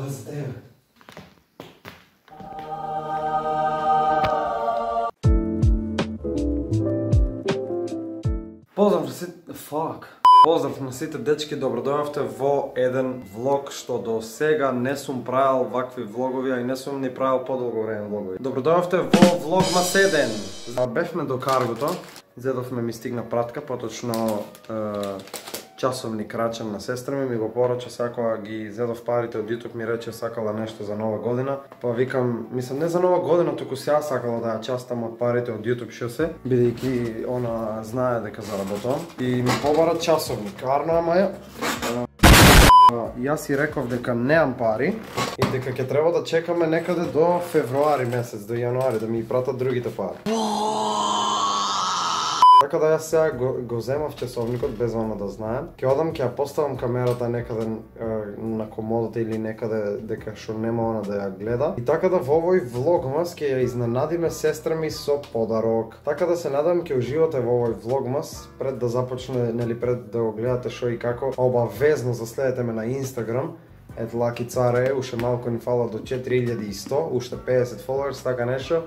Ова за тебе. Поздрав на сите дечки, добродојавте во еден влог што до сега не сум правил вакви влогови, а и не сум ни правил подолго време влогови. Добродојавте во влогмас 1. Бевме до каргото, изедовме, ми стигна пратка, поточно часовник рачен на сестра ми го порача, сакала ги изедов парите од YouTube, ми рече сакала нешто за нова година. Па викам, мислам не за нова година, туку сега сакала да ја частам од парите од YouTube што се, бидејќи она знае дека заработувам. И ми побара часовник, арно, ама ја. Јас си реков дека неам пари и дека ќе треба да чекаме некаде до февруари месец, до јануари, да ми пратат другите пари. Така да јас сега го земав часовникот без она да знаем. Ќе одам, ќе ја поставам камерата некаде на комодата или некаде дека што нема она да ја гледа. И така да во овој влогмас ќе ја изненадиме сестра ми со подарок. Така да се надам ќе уживате во овој влогмас. Пред да започне, нели пред да го гледате што и како, обавезно заследете ме на Инстаграм. Лаки царе, уште малку ни фала до 4100, уште 50 followers, така нешто.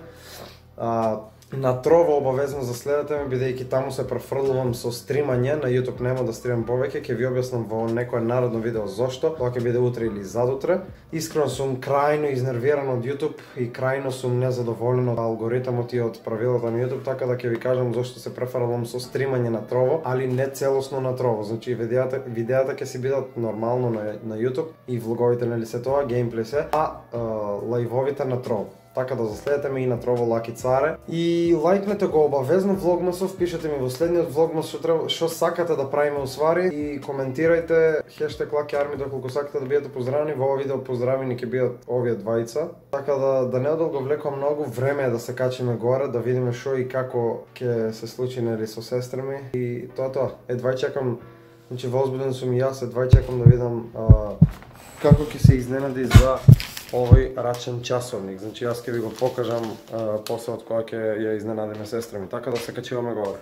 На Trovo обавезно заследете ме, бидејќи таму се префрлувам со стримање, на YouTube нема да стримам повеќе, ќе ви објаснам во некое наредно видео зошто, тоа ќе биде утре или задутре. Искрено сум крајно изнервиран од YouTube и крајно сум незадоволен од алгоритмот и од правилата на YouTube, така да ќе ви кажам зошто се префрлувам со стримање на Trovo, али не целосно на Trovo. Значи видеата ќе си бидат нормално на YouTube и влоговите, нели се тоа, геймплей се, а лајвовите на Trovo. Така да заследете ме и на Trovo Лаки Царе. И лајкнете го обавезно влогмасов, пишете ми во следниот влогмас што сакате да правиме усвари и коментирајте #LakiArmy доколку сакате да бидете поздравени. Во ова видео поздравени ќе бидат овие двајца. Така да не одолго влекам многу, време е да се качиме горе, да видиме што и како ќе се случи, нели, со сестра ми. И тоа. Едвај чекам, значи возбуден сум и јас, едвај чекам да видам како ќе се изненади за овој рачен часовник. Значи јас ќе ви го покажам после од кога ќе ја изненадиме сестра ми. Така да се качиваме горе.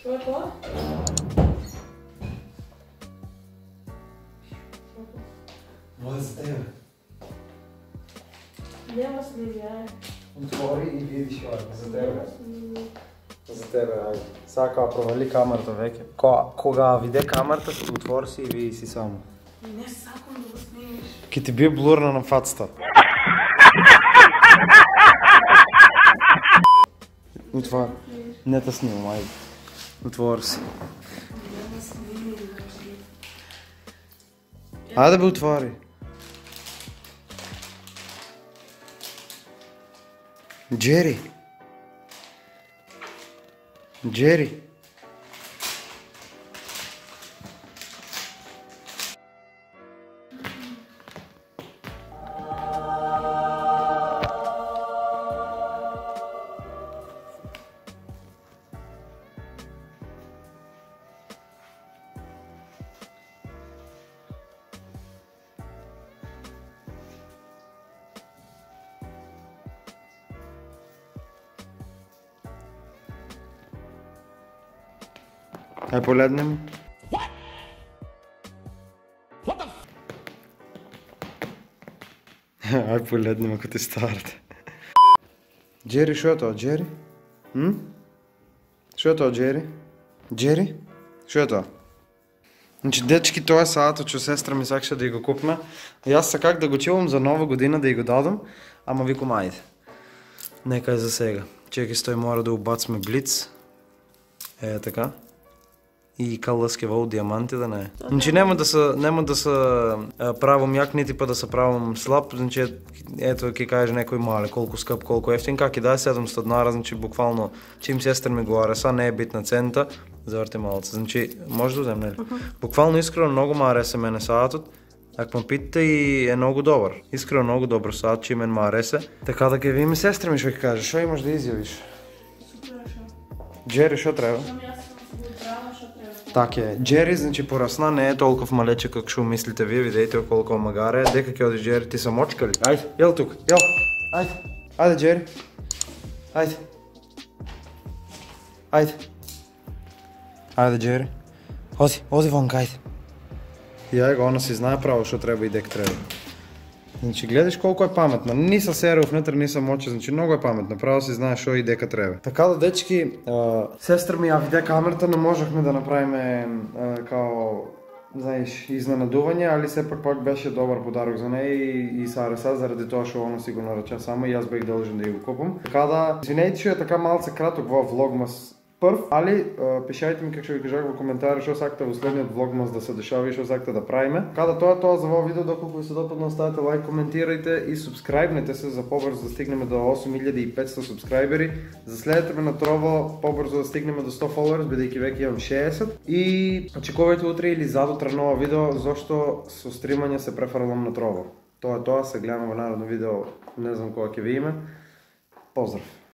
Што е тоа? Ова за тебе. Нема сними, ај. Отвори и видиш ова за тебе. За тебе, ајде. Сака провали камерата веќе. Кога виде камерата, отвори си и види си само. Не сакам да го снимиш. Ке ти бие блурна на фацата. Отвори. Не те снимам, ајде. Отвори си. Нема сними, Ајде бе, отвори. Джери. Джери. Ај поледнем. Ај поледнем ако ти старате. Джери, шо е тоа, Джери? Шо е тоа, Джери? Джери? Шо е тоа? Значи, дечки, тоа е саатот што сестра ми сакаше да ја го купме. Јас сакак да го чувам за нова година да ја го дадам, ама викам ајде. Нека е за сега. Чеки стои, мора да убацме блиц. Е, така. И каласки во диаманти да не е. Значи нема да се правам јак, нити па да се правам слаб, значи ето ќе каже некој мале колку скап, колку ефтин, как и да е 700 динара, значи буквално чим сестра ми го ареса, не е битна цента, заврти малце. Значи може да земам, нели? Буквално искрено многу ма ареса мене саатот. Ако ме питате и е многу добар. Искрено многу добар саат, че мен ма ареса. Така да ќе видиме сестра ми што ќе каже, што имаш да изјавиш? Супер, шо? Джери, што треба? Јас сум го здраво, што треба. Така е. Джери, значи, порасна, не е толков малече како што мислите вие, видејте колку магаре. Дека ќе оди Джери, ти са мочка ли? Ајде, јел тук, јел. Ајде. Ајде, Джери. Ајде. Ајде. Ајде, Джери. Оди вонка, ајде. Ја го, она си знае право што треба и дек треба. Значи, гледаш колку е паметна. Ни са серов внатре, ни са моче, значи многу е паметна. Право си знае што и дека треба. Така да, дечки, сестра ми ја виде камерата, не можехме да направиме као, знаеш, изненадување, али сепак пак беше добар подарок за неј и Сареса, заради тоа што оно си го нарача само и јас бех должен да ја го купам. Така да, извинете што е така малце краток во влогмас прв, али пишајте ми, како што ви кажах во коментари, што сакате во следниот влогмас да се дешава и што сакате да правиме. Када тоа е тоа за овој видео, доколку ви се допадна, оставете лайк, коментирајте и субскрајбнете се за побрзо да стигнеме до 8500 субскрајбери. Заследете ме на Trovo побрзо да стигнеме до 100 followers, бидејќи веќе имам 60. И очекувајте утре или задутре ново видео, зашто со стримање се префрлам на Trovo. Тоа е тоа, се гледаме во наредно видео, не знам кога ќе ви име. Поздрав!